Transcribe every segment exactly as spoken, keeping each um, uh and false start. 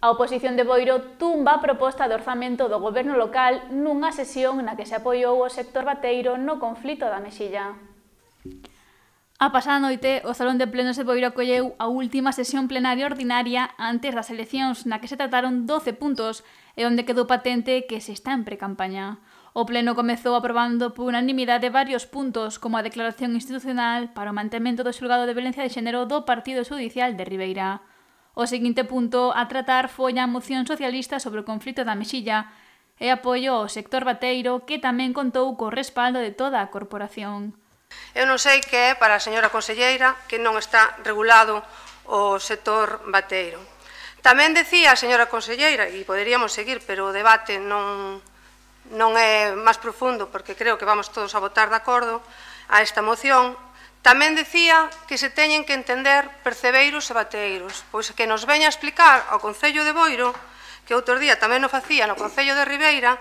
A oposición de Boiro tumba a proposta de orzamento do goberno local nunha sesión na que se apoiou o sector bateiro no conflito da Mexilla. A pasada noite, o Salón de Plenos de Boiro acolleu a última sesión plenaria ordinaria antes das eleccións, na que se trataron doce puntos e onde quedou patente que se está en precampaña. O pleno comezou aprobando por unanimidade varios puntos, como a declaración institucional para o mantemento do xulgado de violencia de xénero do Partido Xudicial de Ribeira. O seguinte punto a tratar foi a moción socialista sobre o conflito da Mexilla e apoio ao sector bateiro, que tamén contou co respaldo de toda a corporación. Eu non sei que é para a señora conselleira que non está regulado o sector bateiro. Tamén decía a señora conselleira, e poderíamos seguir, pero o debate non, non é máis profundo, porque creo que vamos todos a votar de acordo a esta moción. Tamén decía que se teñen que entender percebeiros e bateiros, pois que nos veña a explicar ao Concello de Boiro, que outro día tamén o facía no Concello de Ribeira,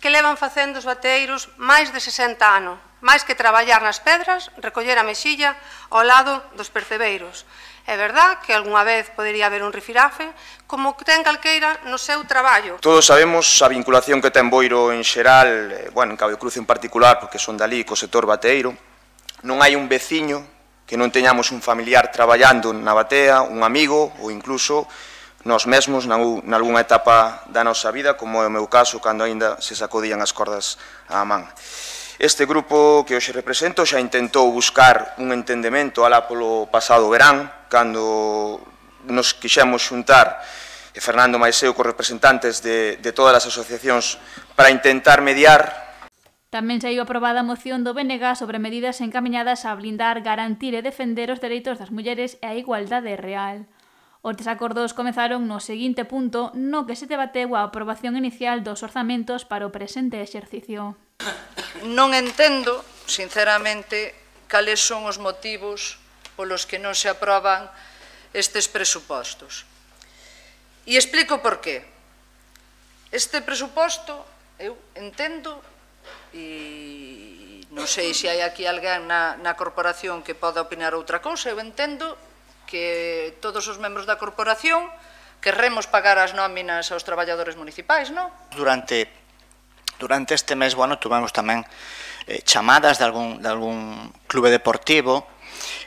que levan facendo os bateiros máis de sesenta anos, máis que traballar nas pedras, recoller a mexilla ao lado dos percebeiros. É verdad que algunha vez podería haber un rifirafe, como ten calqueira no seu traballo. Todos sabemos a vinculación que ten Boiro en xeral, bueno, en Cabo de Cruz en particular, porque son dali co sector bateiro. Non hai un veciño que non teñamos un familiar traballando na batea, un amigo ou incluso nós mesmos nalgúna etapa da nosa vida, como é o meu caso, cando aínda se sacodían as cordas á man. Este grupo que hoxe represento xa intentou buscar un entendemento alá polo pasado verán, cando nos quixemos xuntar, e Fernando máis eu, cos representantes de, de todas as asociacións, para intentar mediar. Tamén saiu aprobada a moción do B N G sobre medidas encamiñadas a blindar, garantir e defender os dereitos das mulleres e a igualdade real. Os desacordos comezaron no seguinte punto, no que se debateu a aprobación inicial dos orzamentos para o presente exercicio. Non entendo, sinceramente, cales son os motivos polos que non se aproban estes presupostos. E explico por qué. Este presuposto, eu entendo, e non sei se hai aquí alguén na, na corporación que poda opinar outra cousa, eu entendo que todos os membros da corporación querremos pagar as nóminas aos traballadores municipais, non? Durante, durante este mes, bueno, tuvemos tamén eh, chamadas de algún, de algún clube deportivo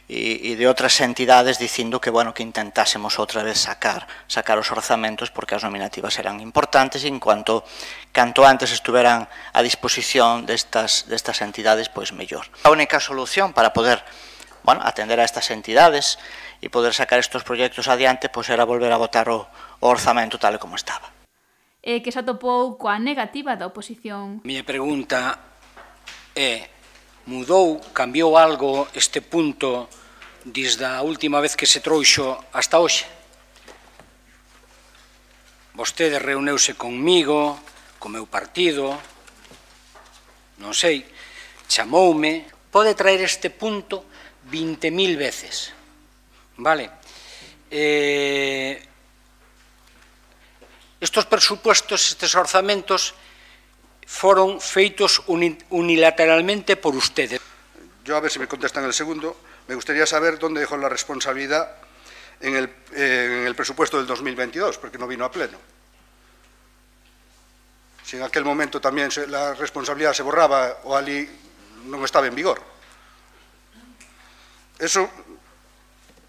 e, e de outras entidades dicindo que, bueno, que intentásemos outra vez sacar, sacar os orzamentos porque as nominativas eran importantes e en cuanto canto antes estuveran a disposición destas, destas entidades, pois mellor. A única solución para poder, bueno, atender a estas entidades e poder sacar estes proxectos adiante, pois era volver a votar o, o orzamento tal e como estaba. E que se atopou coa negativa da oposición. A miña pregunta é: mudou, cambiou algo este punto desde a última vez que se trouxo hasta hoxe? Vostede reuneuse conmigo, co meu partido, non sei, chamoume, pode traer este punto vinte mil veces, vale? Eh, estos presupuestos, estes orzamentos, foron feitos unilateralmente por ustedes. Yo, a ver si me contestan el segundo, me gustaría saber dónde dejó la responsabilidad en el, eh, en el presupuesto del dos mil veintidós, porque no vino a pleno. Si en aquel momento también se, la responsabilidad se borraba o ali non estaba en vigor. Eso,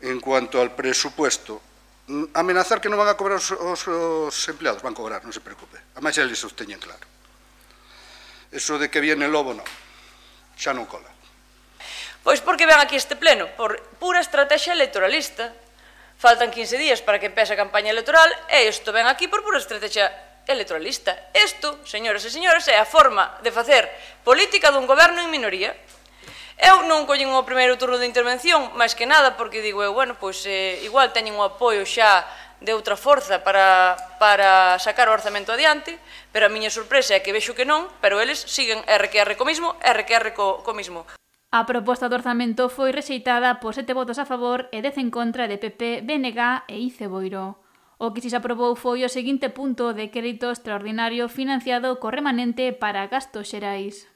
en cuanto al presupuesto, amenazar que non van a cobrar os, os, os empleados, van a cobrar, non se preocupe. Además, eles os teñen claro. Eso de que viene el lobo, non. Xa non cola. Pois porque ven aquí este pleno, por pura estrategia electoralista. Faltan quince días para que empece a campaña electoral e isto ven aquí por pura estrategia electoralista. Isto, señoras e señores, é a forma de facer política dun goberno en minoría. Eu non collín o primeiro turno de intervención, máis que nada, porque digo eu, bueno, pois eh, igual teñen o apoio xa de outra forza para, para sacar o orzamento adiante, pero a miña sorpresa é que vexo que non, pero eles siguen erre que erre co mismo, erre que erre co, co mismo. A proposta do orzamento foi rexeitada por sete votos a favor e dez en contra de P P, B N G e I C E Boiro. O que si se aprobou foi o seguinte punto de crédito extraordinario financiado co remanente para gastos xerais.